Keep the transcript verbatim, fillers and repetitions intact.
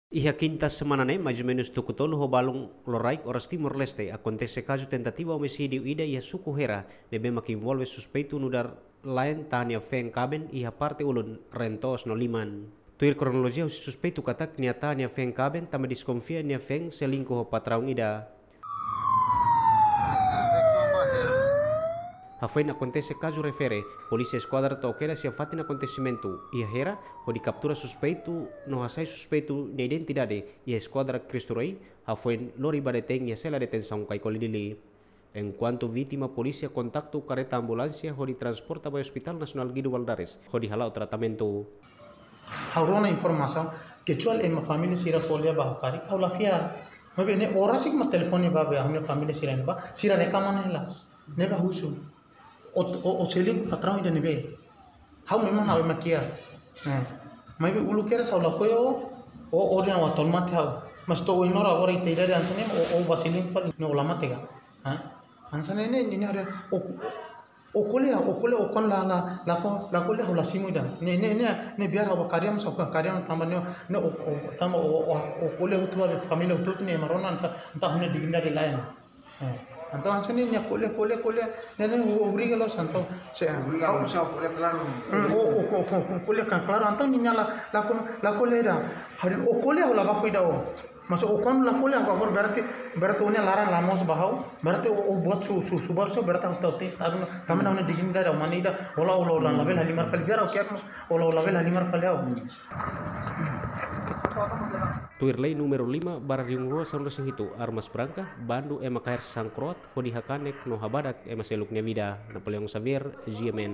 Iha kinta semana ne'e, mais ou menus tuku tolu ho balun loraik oras Timor-Leste, akontese kazu tentativa omisídiu ida iha suku Hera, ne'ebé mak envolve suspeitu nu'udar la'en tane feen kaben iha parte ulun, reen-toos no liman. Tuir kronolojia husi suspeitu katak nia tane feen kaben tanba deskonfia nia feen selingkuh ho patraun ida. Hafoin akontese kazu refere, polísia eskuadra to'o kedas iha fatin akontesimentu iha Hera, hodi kaptura suspeitu no hasai suspeitu nia identidade iha eskuadra Cristo Rei, hafoin lori ba detein iha sela detensaun Kaikoli Dili. Enkuantu vítima, polísia kontaktu kareta ambulánsia hodi transporta ba Hospitál Nasionál Guido Valadares hodi hala'o tratamentu. Ha'u rona informasaun, kecuali ema família sira ko'alia ba ha'u karik, ha'u la fiar. Maibé ne'e oras ne'e mak telefone ba, ba ha'u-nia família sira ne'ebá, sira reka mana hela. Ne'ebá husu. O, o, o selingkuh patraun ida ne'ebé. Ha'u memang ha'u ema kiak. Eh. Maibé uluk kedas ha'u lakohi o, o, o dehan ha'u tolmate ha'u. Mas to'o ohin loron agora ita idade hanesan ne'e, o, o bá selingkuh fali, ne'e o la mate ka. Ha? Hanesan ne'e, ne'e, ne'e, ne'e, o, o ko'alia, o ko'alia, o kuandu la, la, lako, lako le ha'u la simu ida. Ne'e, ne'e, ne'e, ne'e biar ha'u ba kariam sa ka kariam tanba ne'e, ne'e o, o, tanba o, o, o ko'alia hotu ba família hotu-hotu ne'e ema rona entaun, entaun ha'u-nia dignidade la'en. Eh, entaun hanesan ne'e nia ko'alia, ko'alia, ko'alia. Ne'e, ne'e o, obriga loos entaun. Se, Obriga ha'u, loos, ko'alia klaru. Hmm, o, o, o, o, o, ko'alia kan klaru. Entaun nia la, lako, lako le ida. Hari o ko'alia ha'u la baku ida o. Mas o kuandu la ko'alia agora, agora berarti, berarti o-nia laran la moos ba ha'u, berarti o, o buat su, su, su baru so berarti ha'u tau tes tadu na, tanba ha'u-nia dignidade, ha'u mane ida, o la, o la, o la, labele halimar fali, biar ha'u kiak mas, o la, o labele halimar fali ha'u. Tuir lei númeru lima barra rihun rua sanulu-resin-hitu, armas branka, bandu ema kaer sangkroat, hodi hakanek no habadak ema seluk nia vida. Napoleão Xavier, G M N.